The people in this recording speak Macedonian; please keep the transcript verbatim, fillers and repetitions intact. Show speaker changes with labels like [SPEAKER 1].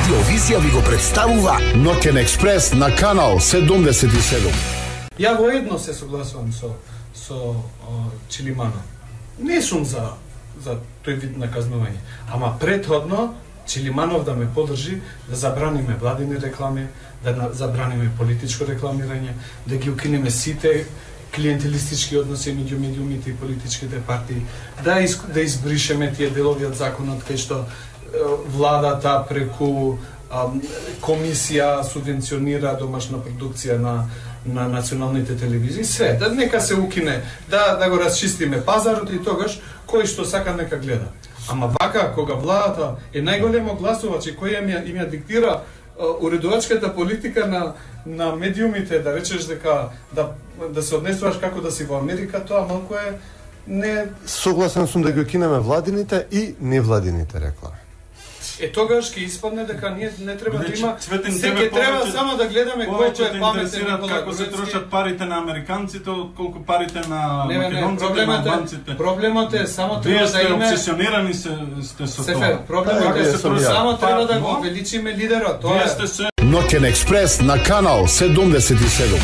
[SPEAKER 1] Радиовизија ви го представува Ноќен експрес на канал седумдесет и седум.
[SPEAKER 2] Ја воедно се согласувам со со о, Чилиманов. Не сум за за тој вид наказнување, ама претходно Чилиманов да ме подржи да забраниме владини реклами, да забраниме политичко рекламирање, да ги укинеме сите клиентелистички односи меѓу медиумите и политичките партии, да из, да избришеме тие делови од законот кај што владата преку а, комисија субвенционира домашна продукција на на националните телевизии, све, да нека се укине, да да го расчистиме пазарот и тогаш кој што сака нека гледа. Ама вака кога владата е најголемо гласувач и кој им ја, им ја диктира уредувачката политика на на медиумите, да речеш дека да да се однесуваш како да си во Америка, тоа малку е не.
[SPEAKER 3] Согласен сум да ги кинеме владините и невладините реклами.
[SPEAKER 2] Е тогаш ќе испадне дека ние не треба да има,
[SPEAKER 4] Цветен,
[SPEAKER 2] секој треба само да гледаме колку е паметен Никола
[SPEAKER 4] како се трошат парите на американците отколку парите на
[SPEAKER 2] не,
[SPEAKER 4] македонците,
[SPEAKER 2] не,
[SPEAKER 4] на албанците.
[SPEAKER 2] Проблемот е само треба
[SPEAKER 4] Вие
[SPEAKER 2] да
[SPEAKER 4] сте
[SPEAKER 2] има
[SPEAKER 4] обсесионирани се сте со
[SPEAKER 2] Сефер,
[SPEAKER 4] тоа.
[SPEAKER 2] проблемот
[SPEAKER 3] Да,
[SPEAKER 2] е
[SPEAKER 3] вие сум ја.
[SPEAKER 2] само треба да
[SPEAKER 4] Па,
[SPEAKER 2] го увеличиме лидерот. Тоа
[SPEAKER 4] Вие
[SPEAKER 2] е.
[SPEAKER 4] сте се
[SPEAKER 1] Ноќен експрес на канал седумдесет и седум.